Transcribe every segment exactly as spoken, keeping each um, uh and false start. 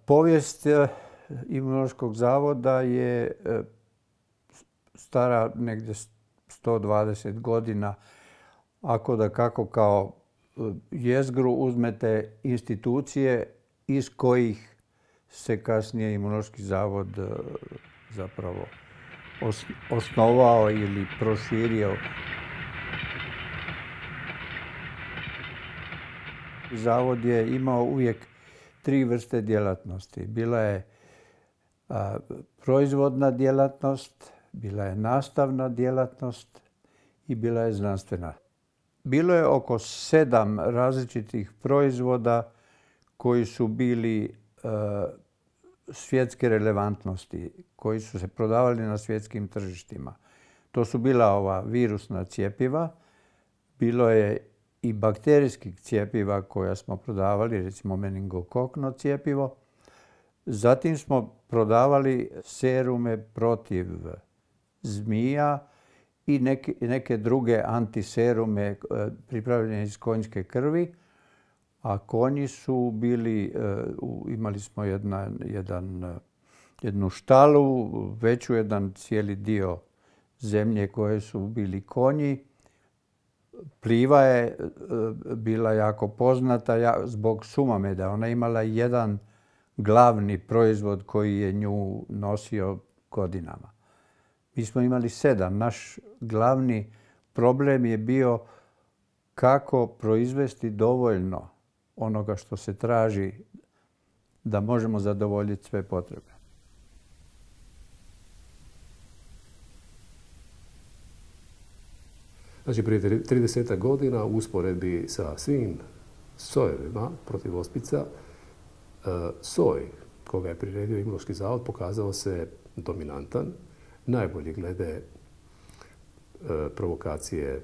Povijest Imunološkog zavoda je stara negdje sto dvadeset godina. Ako da kako kao jezgru uzmete institucije iz kojih se kasnije Imunološki zavod zapravo osnovao ili proširio. Zavod je imao uvijek tri vrste djelatnosti. Bila je a, proizvodna djelatnost, bila je nastavna djelatnost i bila je znanstvena. Bilo je oko sedam različitih proizvoda koji su bili a, svjetske relevantnosti, koji su se prodavali na svjetskim tržištima. To su bila ova virusna cjepiva, bilo je i bakterijskih cjepiva koja smo prodavali, recimo meningokokno cjepivo. Zatim smo prodavali serume protiv zmija i neke, neke druge antiserume pripravljene iz konjske krvi. A konji su bili, imali smo jedna, jedan, jednu štalu, veću jedan cijeli dio zemlje koje su bili konji. Pliva je bila jako poznata zbog Sumameda. Ona imala jedan glavni proizvod koji je nju nosio godinama. Mi smo imali sedam. Naš glavni problem je bio kako proizvesti dovoljno onoga što se traži da možemo zadovoljiti sve potrebe. Znači, prije trideset godina u usporedbi sa svim sojevima protiv ospica, soj koga je priredio Imunološki zavod pokazao se dominantan, najbolji glede provokacije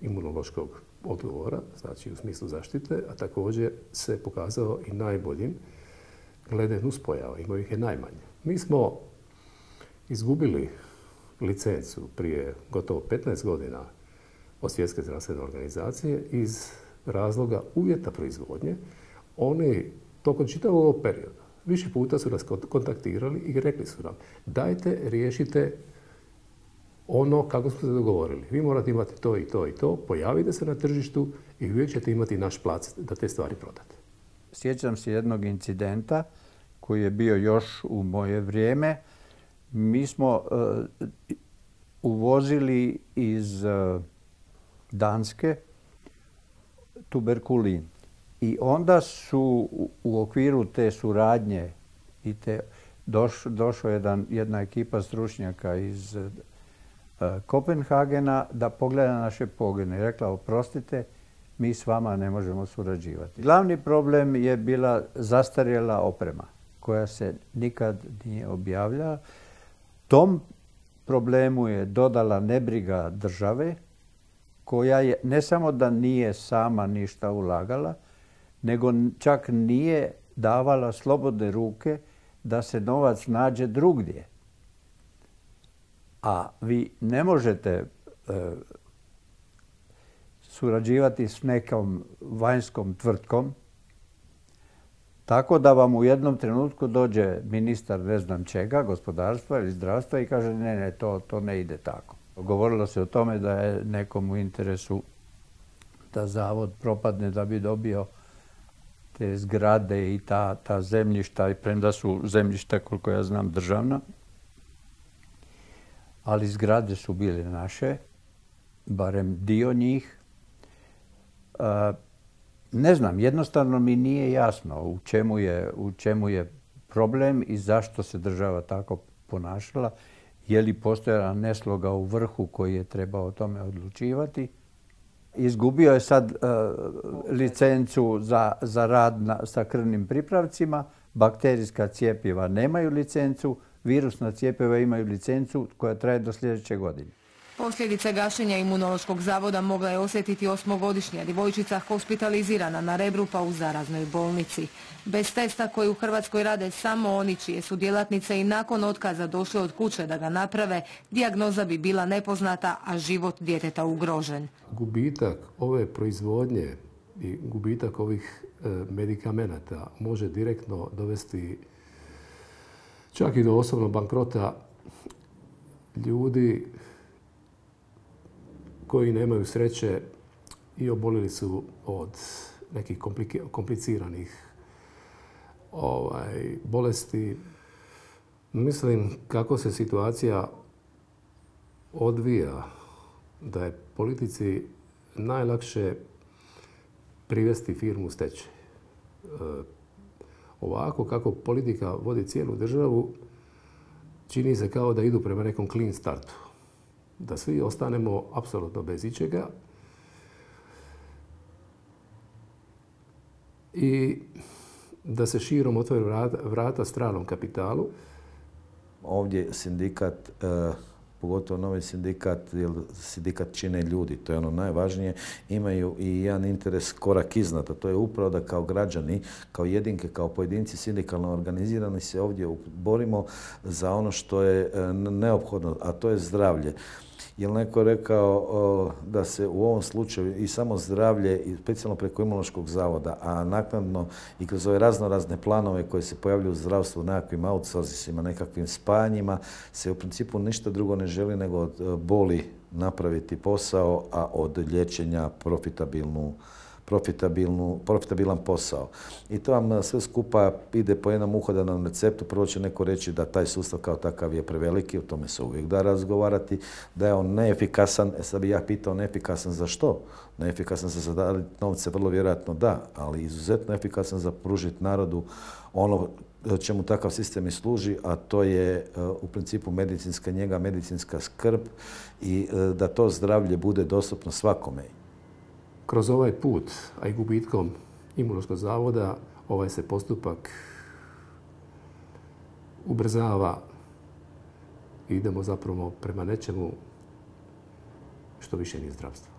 imunološkog odgovora, znači u smislu zaštite, a također se pokazao i najboljim glede nuspojava, imao ih je najmanje. Mi smo izgubili licencu prije gotovo petnaest godina od Svjetske zdravstvene organizacije iz razloga uvjeta proizvodnje. Oni tokom čitavog ovog perioda više puta su nas kontaktirali i rekli su nam dajte riješite ono kako smo se dogovorili. Vi morate imati to i to i to, pojavite se na tržištu i uvijek ćete imati naš plac da te stvari prodate. Sjećam se jednog incidenta koji je bio još u moje vrijeme. Mi smo uh, uvozili iz uh, Danske tuberkulin. I onda su u okviru te suradnje i te doš, došla jedan, jedna ekipa stručnjaka iz uh, Kopenhagena da pogleda naše pogone i rekla oprostite, mi s vama ne možemo surađivati. Glavni problem je bila zastarjela oprema koja se nikad nije objavljala. Tom problemu je dodala nebriga države koja je ne samo da nije sama ništa ulagala, nego čak nije davala slobodne ruke da se novac nađe drugdje. A vi ne možete e, surađivati s nekom vanjskom tvrtkom tako da vam u jednom trenutku dođe ministar ne znam čega, gospodarstva ili zdravstva i kaže ne, ne, to, to ne ide tako. Govorilo se o tome da je nekom u interesu da zavod propadne da bi dobio te zgrade i ta, ta zemljišta, i premda su zemljišta, koliko ja znam, državna. Ali zgrade su bile naše, barem dio njih. Ne znam, jednostavno mi nije jasno u čemu je, u čemu je problem i zašto se država tako ponašala. Je li postojala nesloga u vrhu koji je trebao o tome odlučivati. Izgubio je sad uh, licencu za, za rad na, sa krvnim pripravcima. Bakterijska cjepiva nemaju licencu, virusna cjepiva imaju licencu koja traje do sljedeće godine. Posljedice gašenja Imunološkog zavoda mogla je osjetiti osmogodišnja djevojčica hospitalizirana na Rebru pa u zaraznoj bolnici. Bez testa koji u Hrvatskoj rade samo oni čije su djelatnice i nakon otkaza došle od kuće da ga naprave, dijagnoza bi bila nepoznata, a život djeteta ugrožen. Gubitak ove proizvodnje i gubitak ovih medikamenata može direktno dovesti čak i do osobnog bankrota ljudi koji nemaju sreće i obolili su od nekih kompliciranih ovaj, bolesti. Mislim kako se situacija odvija, da je politici najlakše privesti firmu u stečaj. E, ovako kako politika vodi cijelu državu, čini se kao da idu prema nekom clean startu. Da svi ostanemo apsolutno bez ičega i da se širom otvore vrata, vrata stranom kapitalu. Ovdje sindikat, eh, pogotovo novi sindikat, jer sindikat čine ljudi, to je ono najvažnije, imaju i jedan interes korak iznad, a to je upravo da kao građani, kao jedinke, kao pojedinci sindikalno organizirani se ovdje borimo za ono što je neophodno, a to je zdravlje. Jer neko je rekao da se u ovom slučaju i samo zdravlje, i specijalno preko Imunološkog zavoda, a naknadno i kroz ove razno razne planove koje se pojavljuju u zdravstvu, nekakvim outsourcingima, nekakvim spajanjima, se u principu ništa drugo ne želi nego od boli napraviti posao, a od liječenja profitabilnu Profitabilnu, profitabilan posao. I to vam sve skupa ide po jednom uhodanom receptu. Prvo će neko reći da taj sustav kao takav je preveliki, o tome se uvijek da razgovarati, da je on neefikasan. E sad bih ja pitao neefikasan za što? Neefikasan za zadaviti novce, vrlo vjerojatno da, ali izuzetno efikasan za pružiti narodu ono čemu takav sistem i služi, a to je u principu medicinska njega, medicinska skrb i da to zdravlje bude dostupno svakome. Kroz ovaj put, a i gubitkom Imunološkog zavoda, ovaj se postupak ubrzava i idemo zapravo prema nečemu što više nije zdravstvo.